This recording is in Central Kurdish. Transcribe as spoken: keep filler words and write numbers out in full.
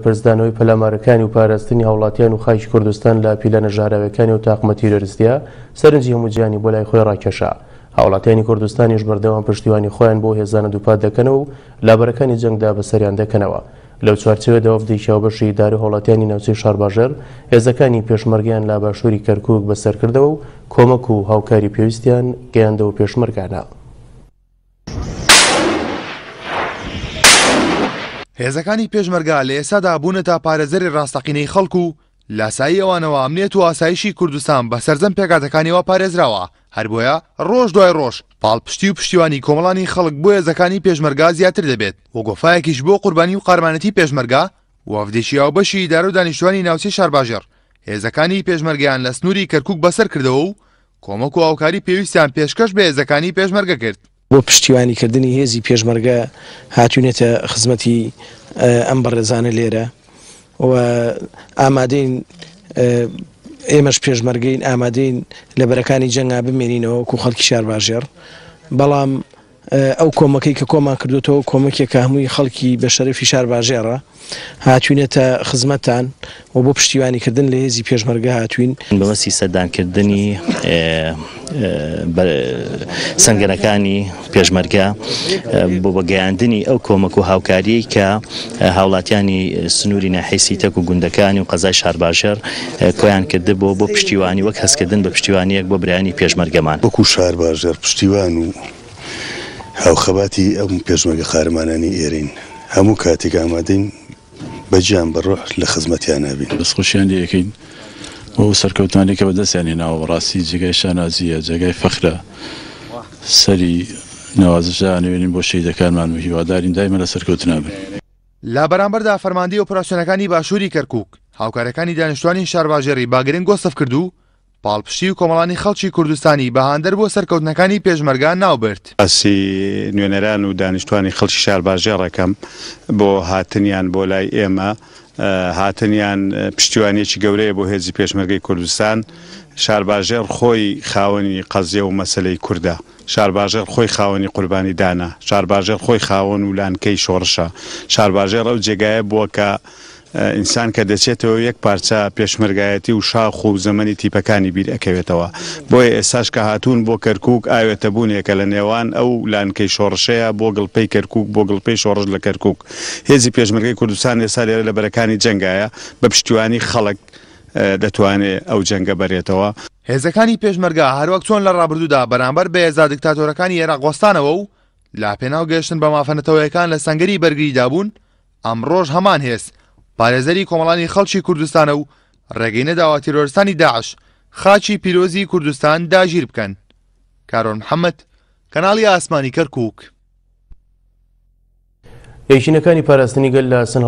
بەرپەرچدانەوەی پەلامارەکانی و پاراستنی هاوڵاتیان و خاکی کوردستان لە پیلانە ژەهراویەکانی و تاقمە تیرۆریستیە سەرنجی هەموو جیهانی بۆ لای خۆی ڕاکێشا. هاوڵاتیانی کوردستانیش بەردەوام پشتیوانی خۆیان بۆ هێزانە دووپات دەکەنەوە و لابەرەکانی جەنگدا بەسەریان دەکەنەوە. لەو چوارچێوەدا وەفدێکی هاوبەشی ئیدارە و هاوڵاتیانی ناوچەی شارباژێڕ هێزەکانی پێشمەرگەیان لە باشووری کەرکووک بەسەرکردەوە و کۆمەک و هاوکاری پێویستیان گەیاندەوە پێشمەرگانە. هێزەکانی پێشمەرگە لە ئێستادا بوونەتە پارێزەری ڕاستەقینەی خەڵک و لاسایی ئەوانەوە ئەمنیەت و ئاسایشی کوردستان بە سەرجەم پێکهاتەکانیەوە پارێزراوە. هەر بۆیە ڕۆژ دوای ڕۆژ پاڵپشتی و پشتیوانی کۆمەڵانی خەڵک بۆ هێزەکانی پێشمەرگە زیاتر دەبێت و گۆفایەکیش بۆ قوربانی و قارمانەتی پێشمەرگە وەفدێکی هاوبەشی ئیدارە و دانیشتوانی ناوچەی شارباژێڕ هێزەکانی پێشمەرگەیان لە سنووری کەرکووک بەسەر کردەوە و کۆمەک و هاوکاری پێویستیان پێشکەش بە هێزەکانی پێشمەرگە کرد. بۆ پشتیوانیکردنی هێزی پێشمەرگە هاتوونێتە خزمەتی ئەم بەڕێزانە لێرە و ئامادەین ئێمەش پێشمەرگەین، ئامادەین لە بەرەکانی جەنگا بمێنینەوە وەکو خەڵکی شارباژێڕ. بەڵام ئەو کۆمەکەی کە کۆمان کردوتەوە کۆمەکێکە هەمووی خەڵکی بە شەرەفی شارباژێڕە هاتوینێتە خزمەتان و بۆ پشتیوانیکردن لە هێزی پێشمەرگە هاتوین. بەمەسی سەردانکردنی سەنگەرەکانی پێشمەرگە بۆ بەگەیاندنی ئەو کۆمەک و هاوکاریەی کە هاوڵاتیانی سنووری ناحیەی سیتەک و گوندەکانی و قەزای شارباژێڕ کۆیان کردبوو بۆ پشتیوانی وەک هەستکردن بە پشتیوانیەک بۆ برایانی پێشمەرگەمان. وەکو شارباژێڕ پشتیوان و هاوخەباتی ئەم پێشمەرگە قارەمانانی ئێرین هەموو کاتێک ئامادەین بەگیان بە ڕۆح لە خزمەتیان نابین. دەستخۆشیان لێ ئەکەین بۆ سەرکەوتنانی کە بەدەستیان هێناوە. بەڕاستی جێگای شانازیە، جێگای فەخرە، سەری نەوازشدا نوێنین بۆ شەهیدەکانمان و هیوادارین دایمە لە سەرکەوتنا بن. لە بەرامبەردا فەرماندەی ئۆپەراسیۆنەکانی باشووری کەرکووک هاوکارەکانی دانیشتوانی شارباژێڕی باگرنگ وەسف کرد و پاڵپشتی و کۆمەڵانی خەڵکی کوردستانی بە هاندەر بۆ سەرکەوتنەکانی پێشمەرگە ناوبرد. باسی نوێنەران و دانیشتوانی خەڵکی شارباژێڕەکەم بۆ هاتنیان بۆ لای ئێمە، هاتنیان پشتیوانیەکی گەورەیە بۆ هێزی پێشمەرگەی کوردستان. شارباژێڕ خۆی خاوەنی قەزیە و مەسلەی کوردە، شارباژێڕ خۆی خاوەنی قوربانی دانا، شارباژێڕ خۆی خاوەن و لانکەی شۆڕشە. شارباژێڕ ئەو جێگایە بووە کە ئینسان کە دەچێتەوە یەک پارچە پێشمەرگایەتی و شاخ و زەمەنی تیپەکانی بیر ئەکەوێتەوە. بۆیە ئێستاش کە هاتوون بۆ کەرکووک ئاوێتە بوونێکە لە نێوان ئەو لانکەی شۆڕشەیە بۆ گڵپەی کەرکووک، بۆ گڵپەی شۆڕش لە کەرکووک. هێزی پێشمەرگەی کوردستان ئێستا لێرە لە بەرەکانی جەنگایە، بە پشتیوانی خەڵک دەتوانێت ئەو جەنگە بەرێتەوە. هێزەکانی پێشمەرگە هەروەک چۆن لە ڕابردوودا بەرامبەر بە هێزا دیکتاتۆرەکانی عێراق وەستانەوە و لا پێناو گەیشتن بە مافە نەتەوەیەکان لە سەنگەری بەرگریدا بوون، ئەمڕۆژ هەمان هێز پارێزەری کۆمەڵانی خەڵکی کوردستانە و ڕێگەی نەداوە تیرۆرستانی داعش خاکی پیرۆزی کوردستان داگیر بکەن. کارۆن محەممەد، کەناڵی ئاسمانی کەرکووک. یەکینەکانی پاراستنی گەل لە سن